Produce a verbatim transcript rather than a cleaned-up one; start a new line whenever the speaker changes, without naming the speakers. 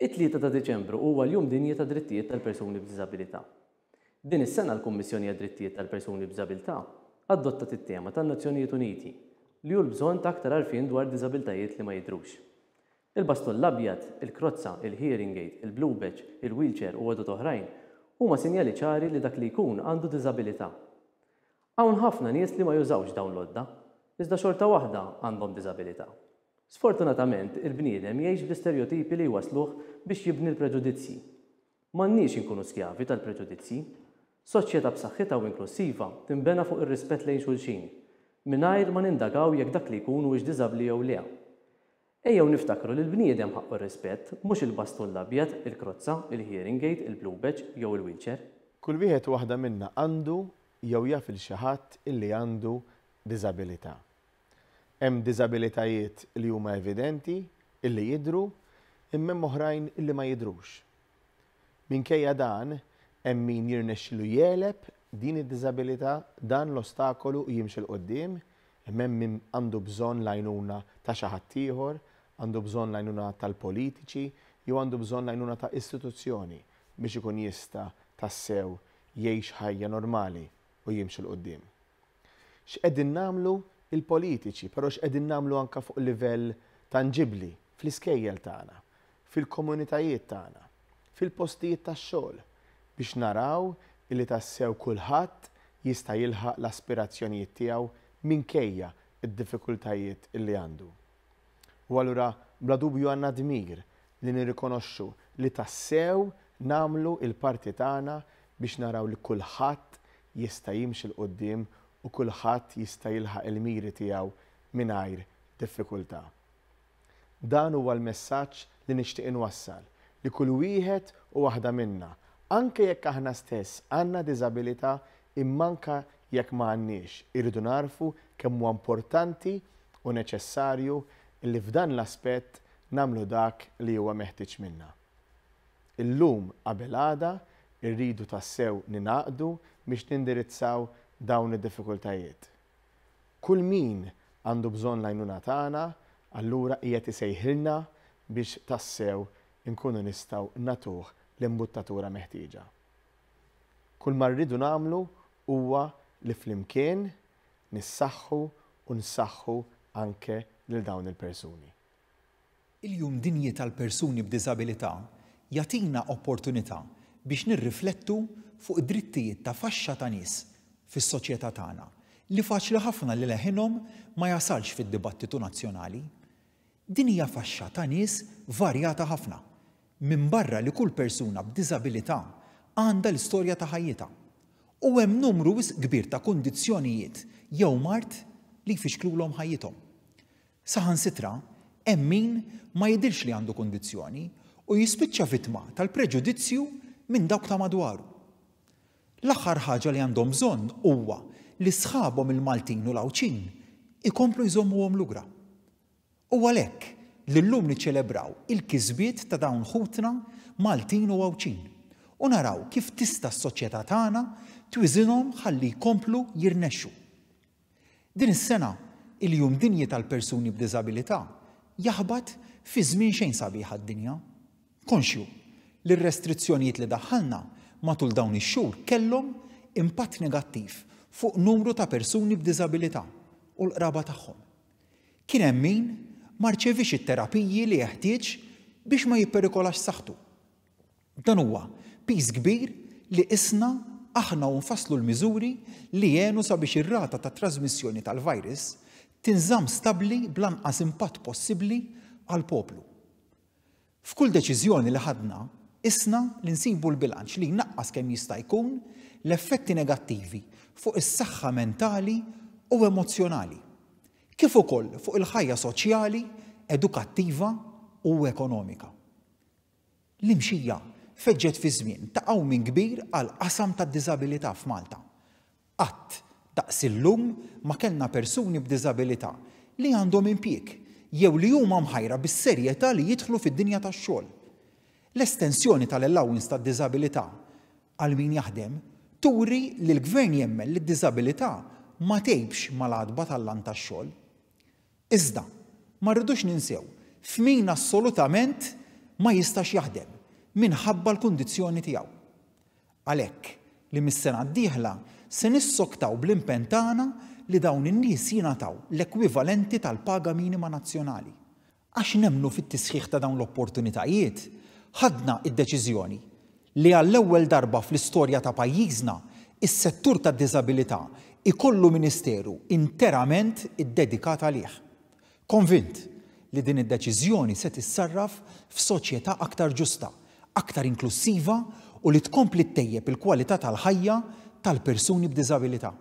It-tlieta ta' Diċembru huwa l-Jum Dinji ta' Drittijiet tal-Persuni b'Diżabilità. Din is-sena l-Kummissjoni għad-Drittijiet tal-Persuni b'Diżabilità adottat it-tema tan-Nazzjonijiet Uniti li hu l-bżonn ta' aktar għarfien dwar diżabiltajiet li ma jidhrux. Il-bastun l-abjad, il-krozza, il-hearing aid, il-blue badge, il-wheelchair u għodod oħrajn huma sinjali ċari li dak li jkun għandu diżabilità. Hawn ħafna nies li ma jużawx dawn l-għodda, iżda xorta waħda għandhom diżabilità. Sfortunatament, il-bniedem jgħix bl-istereotipi li jwasluh biex jibni l-preġudizzji. M'għandniex inkunu skjavi tal-preġudizzji. Soċjetà b'saħħitha u inklussiva tinbena fuq ir-rispett lejn xulxin, mingħajr ma nindagaw jekk dak li jkun huwiex diżabbli jew le. Ejjew niftakru li l-bniedem ħaqqu r-rispett, mhux il-bastun l-abjad, il-krozza, il-hearing aid, il-blue badge jew il-wheelchair.
Kull wieħed u waħda minna għandu jew jaf lil xi ħadd illi għandu diżabilità. Hemm diżabilitajiet li huma evidenti, illi jidhru, imma hemm oħrajn illi ma jidhrux. Minkejja dan, hemm min jirnexxilu jegħleb din id-diżabilità, dan l-ostakolu u jimxi 'l quddiem, imma hemm min għandu bżonn l-għajnuna ta' xi ħadd ieħor, għandu bżonn l-għajnuna tal-politiċi, jew għandu bżonn l-għajnuna ta' istituzzjoni biex ikun jista' tassew jgħix ħajja normali u jimxi 'l quddiem. X'qegħdin nagħmlu il-politiċi, però x'qegħdin nagħmlu anke fuq livell tanġibli fl-iskejjel tagħna, fil-komunitajiet tagħna, fil-postijiet tax-xogħol biex naraw illi tassew kulħadd jista' jilħaq l-aspirazzjonijiet tiegħu minkejja id-diffikultajiet illi għandu. U allura bla dubju għandna dmir li nirrikonoxxu li tassew nagħmlu il-parti tagħna biex naraw li kulħadd jista' jimxi 'l quddiem u kulħadd jista' jilħaq il-miri tiegħu mingħajr diffikultà. Dan huwa l-messaġġ li nixtieq inwassal li kull wieħed u waħda minna, anke jekk aħna stess għandna diżabilità imma anke jekk ma għandniex, irridu narfu kemm huwa importanti u neċessarju li f'dan l-aspett nagħmlu dak li huwa meħtieġ minna. Illum qabel għada irridu tassew ningħaqdu biex nindirizzaw dawn id-diffikultajiet. Kull min għandu bżonn l-għajnuna tagħna, allura qiegħed isejħilna biex tassew inkunu nistgħu nagħtuh l-imbuttatura meħtieġa. Kull ma rridu nagħmlu huwa li flimkien nissaħħu u nsaħħu anke lil dawn il-persuni.
Il-Jum Dinji tal-Persuni b'Diżabilità jagħtina opportunità biex nirriflettu fuq id-drittijiet ta' faxxa ta' nies fis-soċjetà tagħna li faċli ħafna li leħinhom ma jasalx fid-dibattitu nazzjonali. Din hija faxxa ta' nies varjata ħafna, minbarra li kull persuna b'diżabilità għandha l-istorja ta' ħajjitha. U hemm numru wisq kbir ta' kundizzjonijiet jew mard li jfixklulhom ħajjithom. Saħansitra, hemm min ma jidhirx li għandu kundizzjoni u jispiċċa vittma tal-preġudizzju minn dawk ta' madwaru. L-aħħar ħaġa li għandhom bżonn huwa li sħabhom il-Maltin u l-Għawdxin ikomplu jżommuhom lura. U għalhekk li llum niċċelebraw il-kisbiet ta' dawn ħutna Maltin u Għawdxin u naraw kif tista' s-soċjetà tagħna twiżinhom ħalli jkomplu jirnexxu. Din is-sena il-Jum Dinji tal-Persuni b'Diżabilità jaħbat fi żmien xejn sabiħ għad-dinja. Konxju li r-restrizzjonijiet li daħħalna matul dawn ix-xhur kellhom impatt negattiv fuq numru ta' persuni b'diżabilità u l-qraba tagħhom. Kien hemm min ma rċevix it-terapiji li jeħtieġ biex ma jipperikolax saħħtu. Dan huwa piż kbir li isna aħna u nfasslu l-miżuri li jenu sabiex ir-rata ta' trasmissjoni tal-virus tinżamm stabbli bl-anqas impatt possibbli għall-poplu. F'kull deċiżjoni li ħadna, isna li nsibu l-bilanċ li jnaqqas kemm jista' jkun l-effetti negattivi fuq is-saħħa mentali u emozzjonali, kif ukoll fuq il-ħajja soċjali, edukattiva u ekonomika. L-imxija feġġet fi żmien ta' qawmien kbir għal qasam tad-diżabilità f'Malta. Qatt daqs illum ma kellna persuni b'diżabilità li għandhom impjieg jew li huma mħajra bis-serjetà li jidħlu fid-dinja tax-xogħol. L-estensjoni tal-allowance tad-diżabilità għal min jaħdem turi li l-gvern jemmen li d-diżabilità ma tgħibx mal-għatba tal-lant tax-xogħol. Iżda, ma rridux ninsew f'min assolutament ma jistax jaħdem minħabba l-kundizzjoni tiegħu. Għalhekk li mis-sena d-dieħla se nissoktaw bl-impenn tagħna li dawn in-nies jingħataw l-ekwivalenti tal-paga minima nazzjonali. Għax nemmnu fit-tisħiħ ta' dawn l-opportunitajiet, ħadna id-deċiżjoni li għall-ewwel darba fl-istorja ta' pajjiżna is-settur tad-diżabilità ikollu ministeru interament iddedikat għalih. Konvint li din id-deċiżjoni se tissarraf f'soċjetà aktar ġusta, aktar inklusiva u li tkompli ttejjeb il-kwalità tal-ħajja tal-persuni b'diżabilità.